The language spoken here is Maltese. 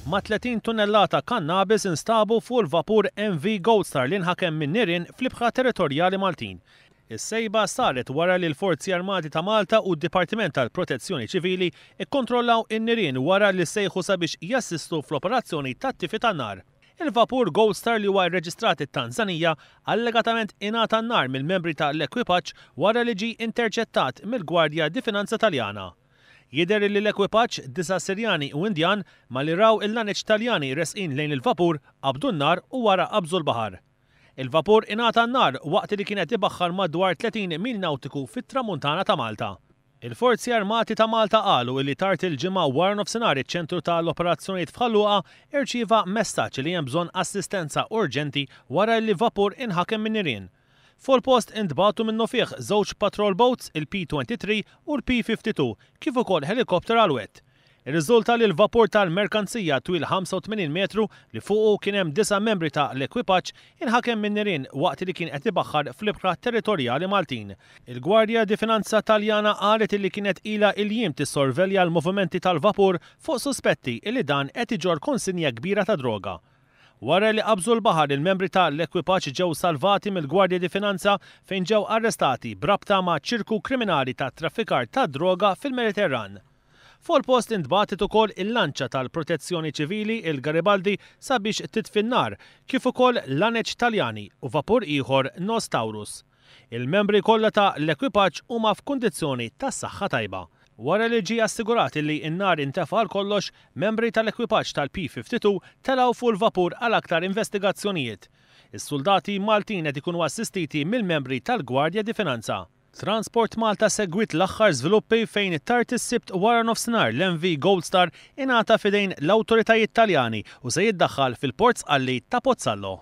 Mat-30 tunnellata kannabis instabu fuq il-vapur MV Gold Star li nħakem minn nirien fl-ibħra territorjali Maltin. Is-sejba saret wara li l-Forzi Armati ta' Malta u d-Dipartiment tal-Protezzjoni Ċivili kkontrollaw in-nirien wara li ssejħu sabiex jassistu fl-operazzjoni tat-tifi tan-nar. Il-vapur Gold Star li huwa rreġistrat it-Tanzanija allegatament ingħata n-nar mill-membri ta' l-ekwipaġġ wara li ġie interċettat mill-Gwardja di Finanza Taljana. Jidher li l-ekwipaġġ, disa' Sirjani u Indjan, malli raw il-laneċ Taljani resqin lejn il-vapur, qabdu n-nar u wara qabżu l-baħar. Il-vapur ingħata n-nar waqt li kien qed ibaħħar madwar 30 mil nawtiku fit-Tramuntana ta' Malta. Il-Forzi Armati ta' Malta qalu illi tard il-Ġimgħa waranofsinhar iċ-Ċentru ta' l-Operazzjonijiet f'Ħal Luqa irċieva messaġġ li hemm bżonn assistenza urġenti wara illi vapur inħakem min-nirien. Fuq il-post intbagħtu minnufih żewġ patrol boats, il-P-23 u l-P-52, kif ukoll ħelikopter Alouette. Irriżulta li l-vapur tal-merkanzija twil 85 metru li fuqu kien hemm disa' membri ta' l-ekwipaġġ inħakem min-nirien waqt li kien qed ibaħħar fl-ibħra territorjali Maltin. Il-Gwardja di Finanza Taljana qalet illi kienet ilha il-jiem tissorvelja l-movimenti tal-vapur fuq suspetti illi dan qed iġorr konsinja kbira ta' droga. Wara li qabżu l-baħar il-membri ta' l-ekwipaġġ ġew salvati mill-Guardia di Finanza fejn ġew arrestati b'rabta ma' ċirku kriminali ta' traffikar tad-droga fil-Mediterran. Fuq il-post intbagħtet ukoll il-lanċa tal-Protezzjoni Ċivili il-Garibaldi sabiex titfi n-nar, kif ukoll laneċ Taljani u vapur ieħor Nos Taurus. Il-membri kollha ta' l-ekwipaġġ huma f'kundizzjoni ta' saħħa tajba. Wara li ġie assigurat illi n-nar intefa' għal kollox, membri tal-ekwipaġġ tal-P-52 telgħu fuq il-vapur għal aktar investigazzjonijiet. Is-suldati Maltin qed ikunu assistiti mill-membri tal-Guardia di Finanza. Transport Malta segwiet l-aħħar żviluppi fejn tard is-Sibt waranofsinhar l-MV Gold Star ingħata f'idejn l-awtoritajiet Taljani u se jiddaħħal fil-Port Sqalli ta' Pozzallo.